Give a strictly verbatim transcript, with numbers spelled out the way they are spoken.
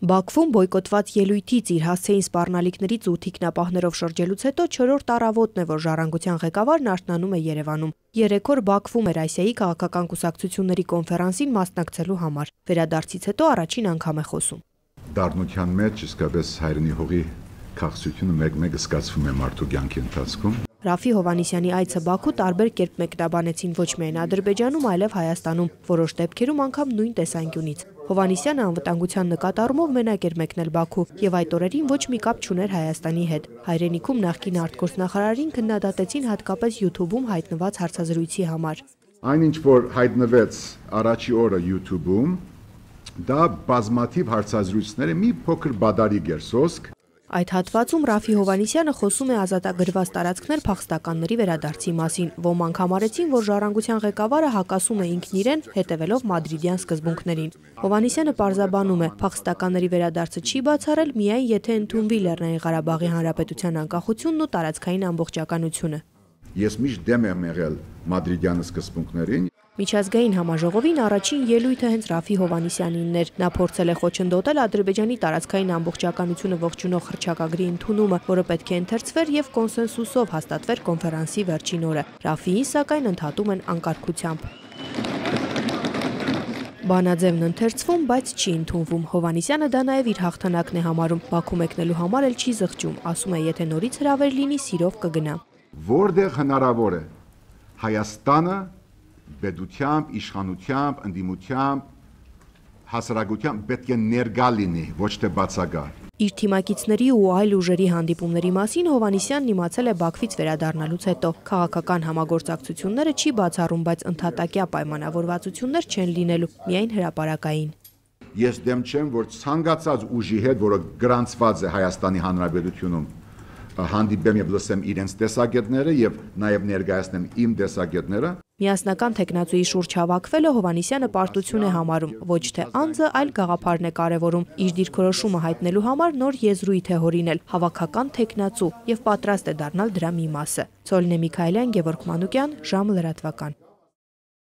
Բաքվում բոյկոտված ելույթից իր հասցեին սպառնալիքներից ու թիկնապահներով շրջելուց հետո չորրորդ առավոտն է, որ ժառանգության ղեկավարն արթնանում է Երևանում։ Երեք օր Բաքվում էր Ասիայի քաղաքական կուսակցությունների կոնֆերանսին մասնակցելու համար։ Վերադարձից հետո առաջին անգամ է խոսում։ Դառնության մեջ իսկապես հայրենի հողի քաղցությունը մեկ-մեկ զգացվում է մարդու կյանքի ընթացքում։ Ռաֆի Հովհաննիսյանի այցը Բաքու տարբեր կերպ մեկնաբանեցին ոչ միայն Ադրբեջանում, այլև Հայաստանում, որոշ դեպքերում անգամ նույն տեսանկյունից։ Հովհաննիսյանը անվտանգության նկատառումով մենակ էր մեկնել Բաքու եւ այդ օրերին ոչ մի կապ չուներ Հայաստանի հետ։ Հայրենիքում նախկին արտգործնախարարին քննադատեցին հատկապես YouTube-ում հայտնված հարցազրույցի համար։ Այնինչ որ հայտնվեց առաջի օրը YouTube-ում, դա բազմաթիվ հարցազրույցները մի փոքր բադարիկ էր սոսկ։ Այդ հատվածում Ռաֆի Հովհաննիսյանը խոսում է ազատագրված տարածքներ փախստականների վերադարձի մասին։ Ոմանք համարեցին, որ ժառանգության ղեկավարը հակասում է ինքն իրեն, հետևելով մադրիդյան սկզբունքներին։ Հովհաննիսյանը պարզաբանում է, փախստականների վերադարձը չի բացառել միայն եթե ընդունվի Լեռնային Ղարաբաղի Հանրապետության անկախությունն ու տարածքային ամբողջականությունը։ Ես միշտ դեմ եմ եղել մադրիդյան սկզբունքներին։ Միջազգային համաժողովին առաջին ելույթը հենց Ռաֆի Հովհաննիսյանինն էր։ Նա փորձել է խոչընդոտել Ադրբեջանի տարածքային ամբողջականությունը ողջունող հռչակագրի ընդունումը, որը պետք է ընթերցվեր եւ կոնսենսուսով հաստատվեր կոնֆերանսի վերջին օրը։ Ռաֆիին սակայն ընդհատում են անկարգությամբ։ Բանաձևն ընթերցվում, բայց չի ընդունվում։ Հովհաննիսյանը դա նաև իր հաղթանակն է համարում։ Բաքու մեկնելու համար էլ չի զղջում, ասում է, եթե նորից հրավեր լինի, սիրով կգնա։ Որտեղ հնարավոր է Հայաստանը պետությամբ, իշխանությամբ, ընդդիմությամբ, հասարակությամբ պետք է ներկա լինի, ոչ թե բացակա։ Իր թիմակիցների ու այլ ուժերի հանդիպումների մասին Հովհաննիսյանն իմացել է Բաքվից վերադառնալուց հետո։ Քաղաքական համագործակցությունները չի բացառում, բայց ընդհատակյա պայմանավորվածություններ չեն լինելու, միայն հրապարակային։ Ես դեմ չեմ, որ ցանկացած ուժի հետ, որը գրանցված է Հայաստանի Հանրապետությունում, հանդիպեմ եւ լսեմ իրենց տեսակետները եւ նաեւ ներկայացնեմ իմ տեսակետները։ Միասնական թեկնածուի շուրջ հավաքվելը Հովհաննիսյանը պարտություն է համարում, ոչ թե անձը, այլ գաղափարն է կարևորում։ Իր դիրքորոշումը հայտնելու համար նոր եզրույթ է հորինել, հավաքական թեկնածու եւ պատրաստ է դառնալ դրա մի մասը։ Ցոլնե Միքայելյան, Գևորգ Մանուկյան, ժամը լրատվական։